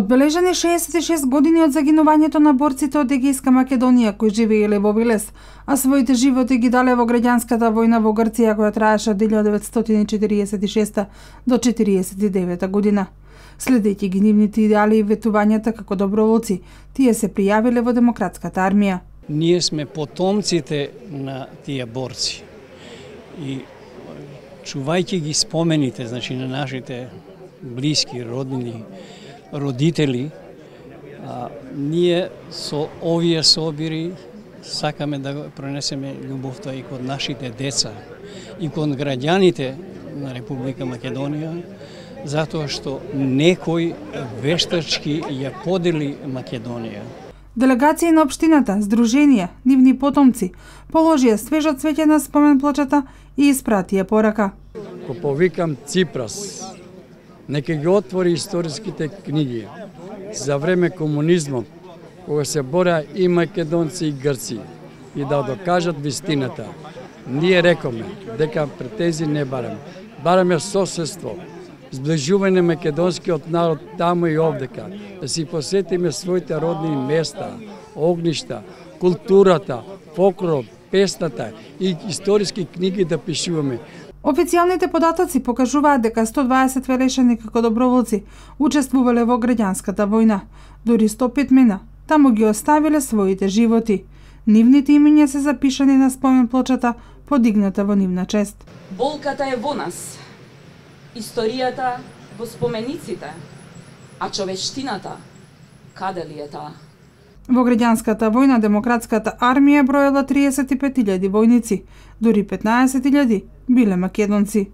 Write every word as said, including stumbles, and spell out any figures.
Одбележани шеесет и шест години од загинувањето на борците од Егејска Македонија кои живееле во Велес, а своите животи ги дале во граѓанската војна во Грција која траеше од илјада деветстотини четириесет и шеста до четириесет и девета година. Следејќи ги нивните идеали и ветувањата како доброволци, тие се пријавиле во демократската армија. Ние сме потомците на тие борци и чувајќи ги спомените, значи на нашите блиски, роднини, родители, а, ние со овие собири сакаме да пронесеме љубовта и кон нашите деца и кон граѓаните на Република Македонија, затоа што некој вештачки ја подели Македонија. Делегации на општината, здруженија, нивни потомци положија свежо цвеќе на спомен плочата и испратија порака. Ко повикам Ципрас, нека ги отвори историските книги за време комунизмот, кога се бореа и македонци и грци, и да докажат вистината. Ние рекоме дека претензии не бараме, бараме соседство, сближување македонскиот народ таму и овдека, да си посетиме своите родни места, огништа, културата, фолклорот, песната и историски книги да пишуваме. Официјалните податоци покажуваат дека сто дваесет велешани како доброволци учествувале во граѓанската војна. Дури сто пет мина таму ги оставиле своите животи. Нивните имиња се запишани на спомен плочата, подигната во нивна чест. Болката е во нас, историјата во спомениците, а човештината, каде ли е таа? Во граѓанската војна демократската армија броела триесет и пет илјади војници, дури петнаесет илјади биле македонци.